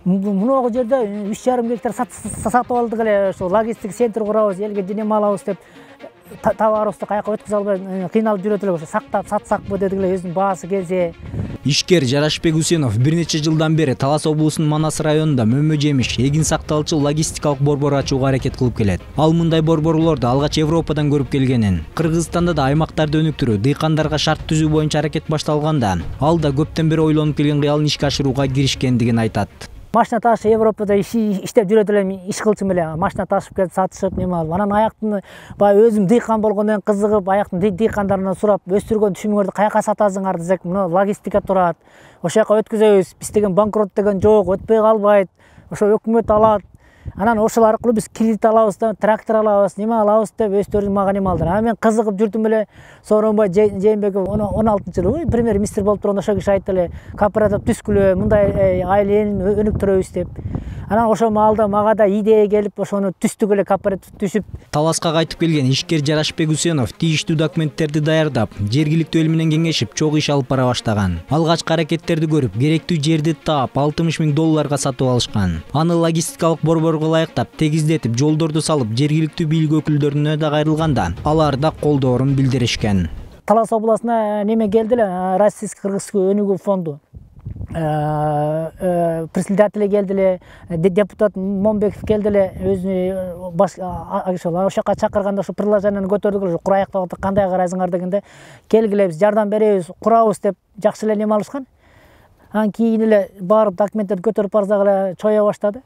Мыногу жерде 3,5 гектар сатып алдык эле, ошо логистик центр курабыз, элге жөнөмө алабыз деп товарыбызды каяка өткөзө албай кыйналып жүрөт элек. Ошо сактап сатсакпы дедик эле, өзүнүн баасы келсе. Ишкер Жарашбек Усенов бир нече жылдан бери Талас облусунун Манас районунда мөмө жемиш, эгин сакталчу логистикалык борбор ачууга аракет кылып келет. Ал мындай борборлорду алгач Европадан көрүп келгенин. Кыргызстанда да аймактарды өнүктүрүү, дыйкандарга шарт түзүү боюнча аракет башталганда, ал да көптөн бери ойлонуп келген кыялын ишке ашырууга киришкендигин айтат. Машина ташып Европада иштеп жүрөт элем, иш кылчумун эле. Машина ташып келип сатышып неме алып. Анан аяктын баягы өзүм дыйкан болгондон кызыгып, аяктын дыйкандарынан сурап, өстүргөн түшүмүңөрдү каяка сатасыңар десек, мына логистика турат. Ошол жака өткөзөбүз. Биз деген банкрот деген жок, өтпөй калбайт. Ошо өкмөт алат. Анан ошол аркылуу биз кредит алабыз да, трактор алабыз, неме алабыз деп өздөрү мага неме алдыр. Анан мен кызыгып жүрдүм эле. Сооронбай Жээнбеков 16-жылы премьер-министр болуп турганда ошол киши айтты эле, кооператив түзгүлө, мындай айланын өнүктүрөбүз деп. Анан ошол маалда мага да идея келип, ошону түздүк эле, кооператив түзүп. Таласка кайтып келген ишкер Жарашбек Усенов тийиштүү документтерди даярдап, жергиликтүү эл менен кеңешип, чогуу иш алып бара баштаган. Алгачкы аракеттерди көрүп, керектүү жерди таап, $60,000 сатып алышкан. Аны логистикалык борборго ылайыктап, тегиздетип, жолдорду салып, жергиликтүү бийлик өкүлдөрүнө да кайрылганда, алар да колдоорун билдиришкен. Талас областына неме келди эле, Российско-кыргызский өнүгүү фонду. Председатели келди эле, депутат Момбеков келди эле, өзүнүн ошол жака чакырганда ошо предложенияны көтөрдүк эле, кураяк деп кандай карайсыңар дегенде, келгиле биз жардам беребиз, курабыз деп жакшы эле неме алышкан. Анан кийин эле барып документтерди көтөрүп барсак эле чоя баштады.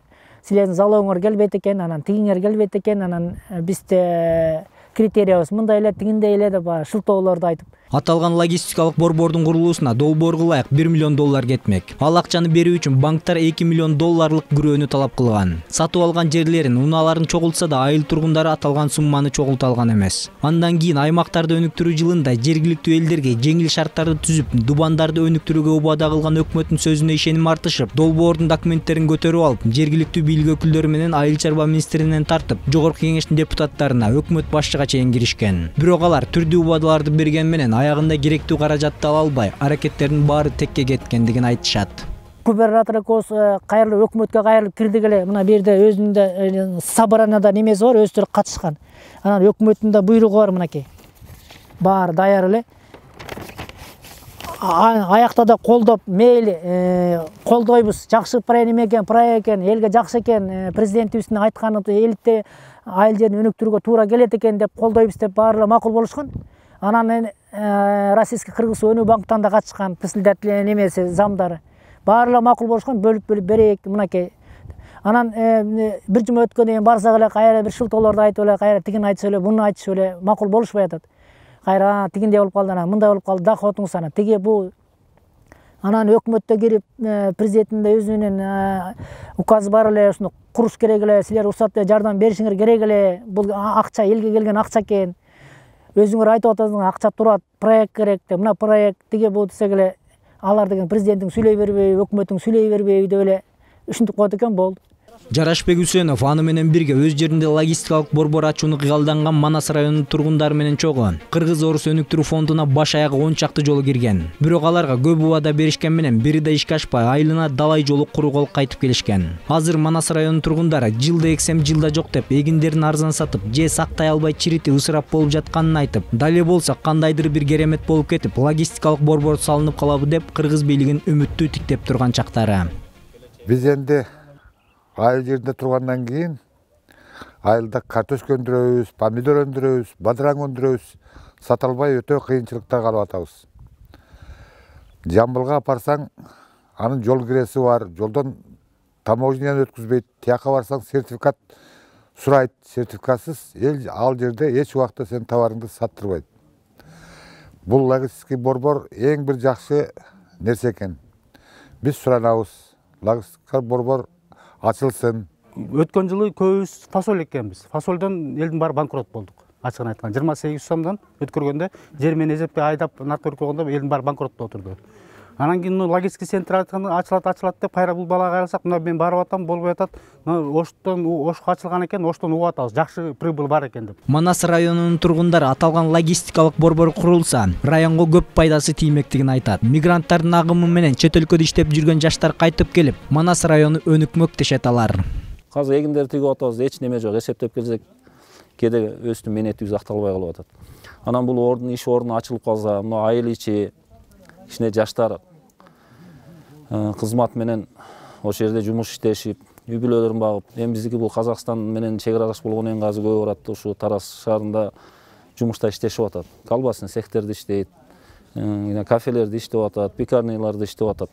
Силердин залогуңар келбейт экен, анан тигиңер келбейт экен, анан бизде критериябыз мындай эле, тигиндей эле деп шылтоолорду айтып. Аталган логистикалык борбордун курулуусуна долбоорго ылайык $1 миллион кетмек. Ал акчаны берүү үчүн банктар $2 миллион күрөөнү талап кылган. Сатып алган жерлерин, унааларын чогултса да, айыл тургундары аталган сумманы чогулта алган эмес. Андан кийин аймактарды өнүктүрүү жылында жергиликтүү элдерге жеңил шарттарды түзүп, дубандарды өнүктүрүүгө убада кылган өкмөттүн сөзүнө ишеним артышып, долбоордун документтерин көтөрүп алып, жергиликтүү бийлик өкүлдөрү менен айыл чарба министринен тартып, жогорку кеңештин депутаттарына, өкмөт башчыга чейин киришкен. Бирок алар түрдүү убадаларды берген менен аягында керектүү каражатты ала албай, аракеттердин баары текке кеткендигин айтышат. Губернатор экөөбүз кайрылып өкмөткө кайрылып кирдик эле. Мына бу жерде өзүнүн собранияда немеси бар, өздөрү катышкан. Анан өкмөттүн да буйругу бар мынакей. Баары даяр эле. Аякта да колдоп, мейли колдойбуз. Жакшы проект экен, элге жакшы экен, президентибиздин айтканы элитте айыл жерин өнүктүрүүгө туура келет экен деп колдойбуз деп баары макул болушкан. Анан Российско-кыргызский өнүү банктан да катышкан, председатель немеси, замдары. Баары макул болушкан, бөлүп берейик мынакей. Анан бир жума өткөндөн кийин барсак эле, кайра бир шылтоолорду айтып эле, кайра тигин айтышып эле, буну айтышып эле, макул болушпай атат. Кайра тигиндей болуп калды, анан мындай болуп калды, доходуңуз анан тиги бу. Анан өкмөттө кирип, президенттин өзүнүн указы бар эле, ушуну куруш керек эле, силер уруксат жардам беришиңер керек эле, бул акча элге келген акча экен. Өзүңөр айтып атасыңар, акча турат, проект керек деп, мына проект тиги бул десек эле, алар деген президенттин сүйлөй бербейби, өкмөттүн сүйлөй бербейби деп эле ушинтип коет экен, болду. Жарашбек Усенов аны менен бирге өз жеринде логистикалык борбор ачууну кыялданган Манас районунун тургундары менен чогуу Кыргыз-Орус өнүктүрүү фондуна баш аягы 10 чакты жолу кирген. Бирок аларга көп убада беришкен менен бири да ишке ашпай, айылына далай жолу куру кайтып келишкен. Азыр Манас районунун тургундары жылда эксем жылда жок деп, эгиндерин арзан сатып, же сактай албай чирити ысырап болуп жатканын айтып, дале болсо кандайдыр бир керемет болуп кетип, логистикалык борбор салынып калабы деп кыргыз бийлигин үмүттүү тиктеп турган чактары. Биз энди айыл жеринде тургандан кийин айылда картошка өндүрөбүз, помидор өндүрөбүз, бадыраң өндүрөбүз. Сата албай өтө кыйынчылыкта калып атабыз. Жамбылга апарсаң, анын жол киреси бар, жолдон таможняны өткүзбөйт. Тияка барсаң сертификат сурайт. Сертификатсыз эл ал жерде эч убакта сен товарыңды саттырбайт. Бул логистикалык борбор эң бир жакшы нерсе экен. Биз суранабыз, логистикалык борбор ачылсын. Өткөн жылы көбүбүз фасоль экенбиз. Фасольдон элдин баары банкрот болдук. Ачыгын айтканда 28 сомдон өткөргөндө жер менен эзеппей айдап наркы өркөгөндө элдин баары банкротто отурду. Анан кийин логистика центр ачылат деп кайра бул балага кайрылсак, мына мен барып атам, болбой атат. Ошко ачылган экен, оштон угуп атабыз. Жакшы прибыль бар экен деп. Манас районунун тургундары аталган логистикалык борбор курулса, районго көп пайдасы тиймектигин айтат. Мигранттардын агымы менен чет өлкөдө иштеп жүргөн жаштар кайтып келип, Манас району өнүкмөк дешет алар. Азыр эгиндерди тигип атабыз, эч неме жок. Эсептеп келсек, кээде өстүн менетибиз акталбай калып атат. Анан бул иш орду ачылып калса, мына айыл ичи кичине жаштар кызмат менен ошол жерде жумуш иштешип, үй бүлөлөрүн багып, эми биздики бул Казакстан менен чек аралаш болгондон кийин азыр көп барат, ушу Тараз шаарында жумушта иштешип атат. Колбасный цехтерде иштейт, кафелерде иштеп атат, пекарняларда иштеп атат.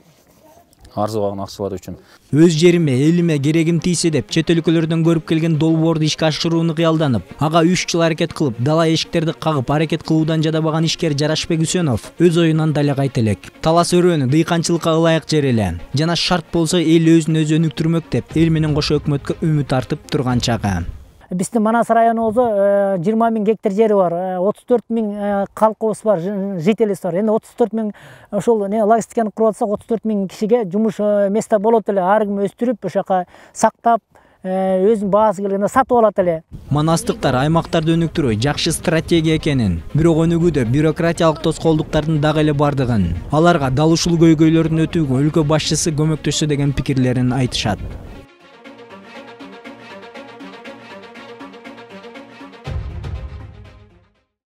Арзыбаган акчалар үчүн. Өз жериме, элиме керегим тийсе деп чет өлкөлөрдөн көрүп келген долбоорду ишке ашырууну кыялданып, ага 3 жыл аракет кылып, дала эшиктерди кагып аракет кылуудан жадабаган ишкер Жарашбек Үсөнов өз оюнан дале кайта элек. Талас өрөөнү дыйканчылыкка ылайык жер эле. Жана шарт болсо эл өзүн өзү өнүктүрмөк деп эл менен кошо өкмөткө үмүт артып турган чагы. Биздин Манас районубузда 20 000 гектар жери бар, 34 000 калкыбыз бар, жителибиз бар. Эми 34 000 ошол логистиканы куруп атсак, 34 000 кишиге жумуш место болот эле. Ар ким өстүрүп, ошо жака сактап, өзүнүн баасы келгенде сатып алат эле. Манастыктар аймактарды өнүктүрүү жакшы стратегия экенин, бирок өнүгүүдө бюрократиялык тоскоолдуктардын дагы эле бардыгын, аларга дал ушул көйгөйлөрдүн өтүүгө өлкө башчысы көмөктөшсө деген пикирлерин айтышат.